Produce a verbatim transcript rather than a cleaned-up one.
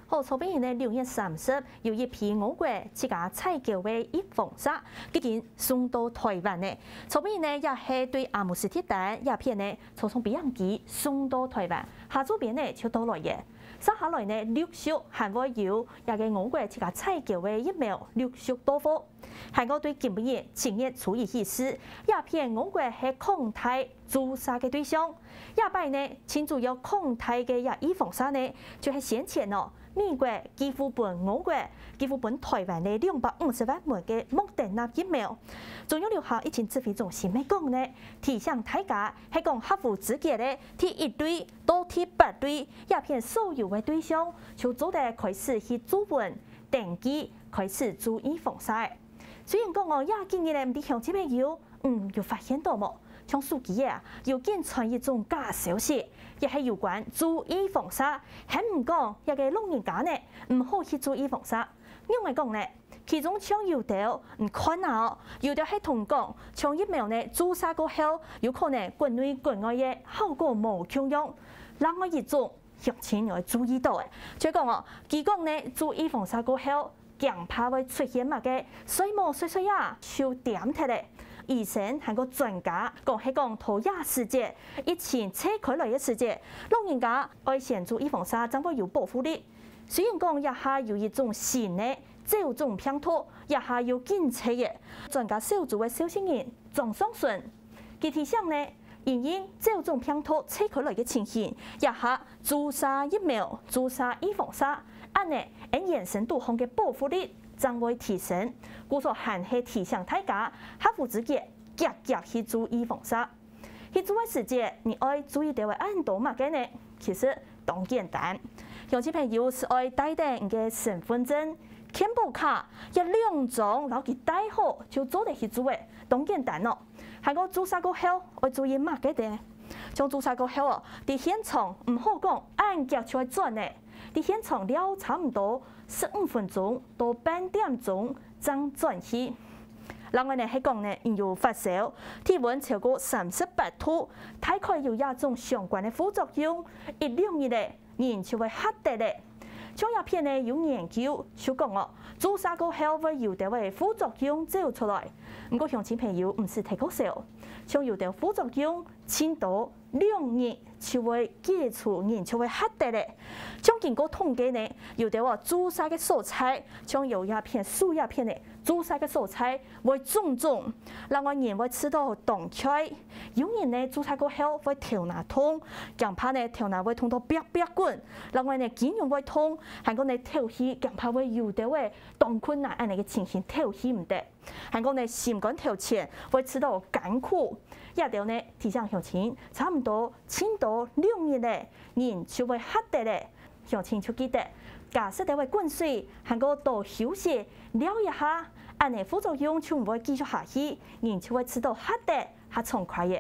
好，昨晡日呢，六月三十，有一批我國自家採購个預防射，已經送到臺灣呢。昨晡日呢，也係對阿姆斯特丹這片呢，坐上飛行機送到臺灣，下晝片呢就到來了。接下來呢，陸續還會有這个我國自家採購个疫苗陸續到貨。 還過對今晡日七月初一起勢，這片我國係擴大注射个對象。這擺呢，盡主要擴大个這預防射呢，就係先前哦，美國寄付分我國、寄付分臺灣个兩百五十萬劑个莫德納疫苗。中央流行疫情指揮中心乜講呢，提醒大家係講合乎資格个第一類到第八類，這片所有个對象就做得開始去注文、登記，開始注預防射。 雖然講哦，這幾日呢，毋知鄉親朋友，嗯，有發現到無？像手機仔啊，有緊傳一種假消息，也係有關注預防射，還毋講這个老人家呢，毋好去注預防射。仰仔講呢？其中像有兜，你看啊哦，有兜係同講，像疫苗呢注射過後，有可能國內國外个效果無共樣。另外一種，鄉親愛注意到个，就係講哦，佢講呢注預防射過後， 驚怕會出現麼个睡目睡睡啊，就恬忒了。醫生還過專家講係講到這時節，疫情吹開來个時節，老人家愛先注預防射正會有保護力。雖然講這下有一種新个châu種病毒，這下又緊吹个，專家小組个召集人莊上順，佢提醒呢， 因應châu種病毒吹開來个情形，這下注射疫苗、注射預防射，恁呢，𫣆原身肚項个保護力正會提升。故所還係提醒大家，合乎資格，遽遽去注預防射。去注个時節，你愛注意兜仔恁多麼个呢？其實當簡單，鄉親朋友係愛帶等你个身分證、健保卡，這兩張摎佢帶好就做得去注了，當簡單哦。 還過注射過後，愛注意麼个呢？像注射過後哦，在現場毋好講恁遽就愛轉呢，在現場尞差毋多十五分鐘到半點鐘正轉去。另外呢係講呢，你有發燒，體溫超過三十八度，大概有這種相關个副作用，一兩日呢， 人就會嚇得了。像這片呢有研究就講哦，注射過後會有兜仔副作用走出來。毋過鄉親朋友毋使忒過愁，像有兜副作用盡多兩日就會解除，人就會嚇得了。像經過統計呢，有兜哦注射个所在，像有這片、手這片呢，注射个所在會腫腫，另外人會試著當𤸁。 有人呢注射過後會頭那痛，驚怕呢頭那會痛到壁壁滾，另外呢筋肉會痛，還過呢敨氣驚怕會有兜仔當困難恁呢个情形敨氣毋得，還過呢心肝頭前會試著艱苦。這兜呢提醒鄉親，差毋多盡多兩日了，人就會嚇得了。鄉親就記得，加食兜仔滾水，還過多休息，尞一下，恁呢副作用就毋會繼續下去，人就會試著嚇得較暢快了。